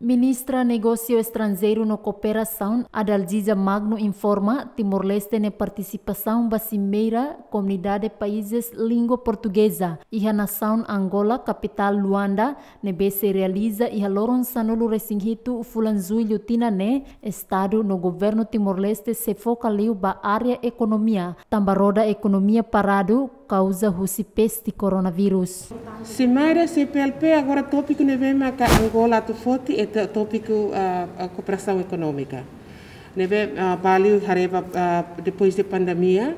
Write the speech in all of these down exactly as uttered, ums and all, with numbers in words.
Ministra Negósiu Estranjeiru no Kooperasaun, Adalgisa Magno, informa Timor-Leste nia partisipasaun ba simeira Komunidade Países Língua Portugeza iha nasaun Angola, kapitál Luanda, ne'ebé sei realiza iha loron sanulu-resin-hitu fulan Jullu tinan ne'e. Estadu no Governu Timor-Leste sei foka liu ba área ekonomia, tanba roda ekonomia paradu kauza husi peste koronavírus. Simeira C P L P agora tópiku ne'ebé maka Angola atu foti ita tópiku, ah, ah, kooperasaun ekonómika. Ne'ebé, ah, ba liu haree ba, ah, depois de pandemia,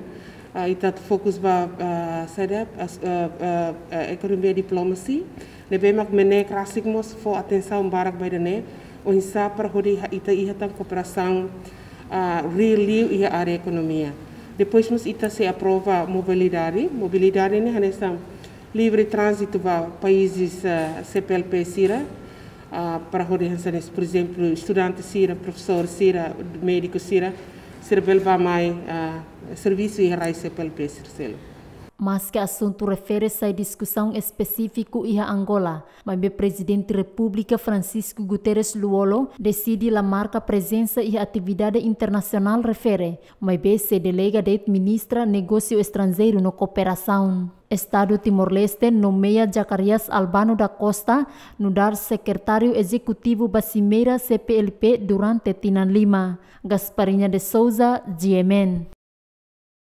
ah, ita atu fokus ba, ah, saida, ah, ah, ah, ah, ekonomia diplomasia. Ne'ebé mak MNEK rasik mós fó atensaun barak ba ida-ne'e, oinsá para hodi ha-, ita iha tan kooperasaun, ah, real liu iha área ekonomia. Depois mós ita sei aprova mobilidade. Mobilidade ne'e hanesan livre tránzitu ba países, ah, C P L P sira, ah, para hodi hanesan, por ezemplu, estudante sira, profesór sira, médiku sira, sira bele bá mai, ah, servisu iha rai C P L P sira seluk. Maske asuntu refere sai diskusaun espesífiku iha Angola, maibé Prezidente Repúblika Francisco Guterres Lú-Olo deside la marka prezensa iha atividade internasionál refere, maibé sei delega de'it Ministra Negósiu Estranjeiru no Kooperasaun. Estadu Timor-Leste nomeia Zacarias Albano da Costa nu'udar Sekretáriu Ezekutivu ba simeira C P L P durante tinan lima. Gasparinha de Souza, G M N.